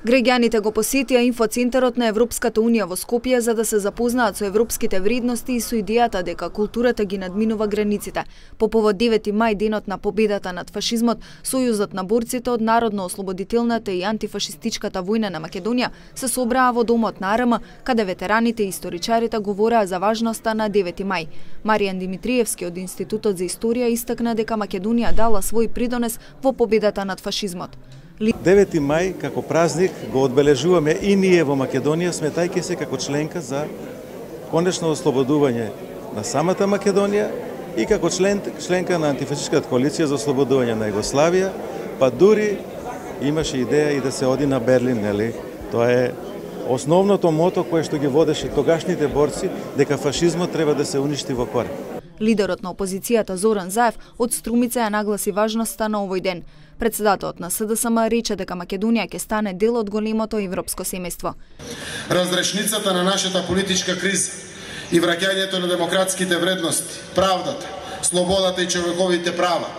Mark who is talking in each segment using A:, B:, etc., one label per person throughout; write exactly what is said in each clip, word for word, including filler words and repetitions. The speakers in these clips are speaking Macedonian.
A: Граѓаните го посетија инфоцентарот на Европската унија во Скопје за да се запознаат со европските вредности и со идејата дека културата ги надминува границите. По повод девети мај, денот на победата над фашизмот, Сојузот на борците од Народно-ослободителната и антифашистичката војна на Македонија се собраа во домот на АРМ, каде ветераните и историчарите говореа за важноста на девети мај. Маријан Димитриевски од Институтот за историја истакна дека Македонија дала свој придонес во победата над фашизмот.
B: девети мај како празник го одбележуваме и ние во Македонија, сметајќи се како членка за конечно ослободување на самата Македонија и како член, членка на антифашистичката коалиција за ослободување на Југославија, па дури имаше идеја и да се оди на Берлин, нели? Тоа е основното мото кое што ги водеше тогашните борци, дека фашизмот треба да се уништи во корен.
A: Лидерот на опозицијата Зоран Заев од Струмица ја нагласи важноста на овој ден. Председателот на СДСМ рече дека Македонија ќе стане дел од големото европско семејство.
C: Разрешницата на нашата политичка криза и враќањето на демократските вредности, правдата, слободата и човековите права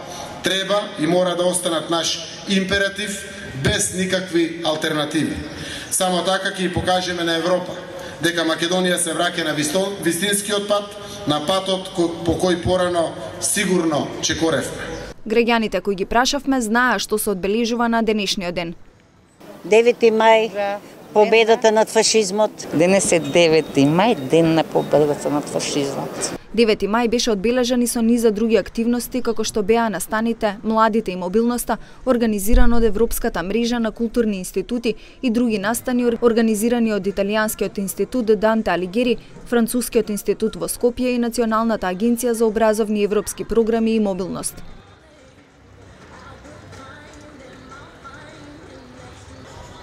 C: треба и мора да останат наш императив без никакви алтернативи. Само така ќе покажеме на Европа дека Македонија се враќа на вистинскиот пат, на патот по кој порано сигурно чекоревме.
A: Граѓаните кои ги прашавме знаа што се одбележува на денешниот ден.
D: девети мај, победата над фашизмот.
E: Денес е девети мај, ден на победата над фашизмот.
A: девети мај беше одбележан и со низа други активности, како што беа настаните, младите и мобилноста, организирано од Европската мрежа на културни институти и други настани организирани од Италијанскиот институт Данте Алигери, Францускиот институт во Скопје и Националната агенција за образовни европски програми и мобилност.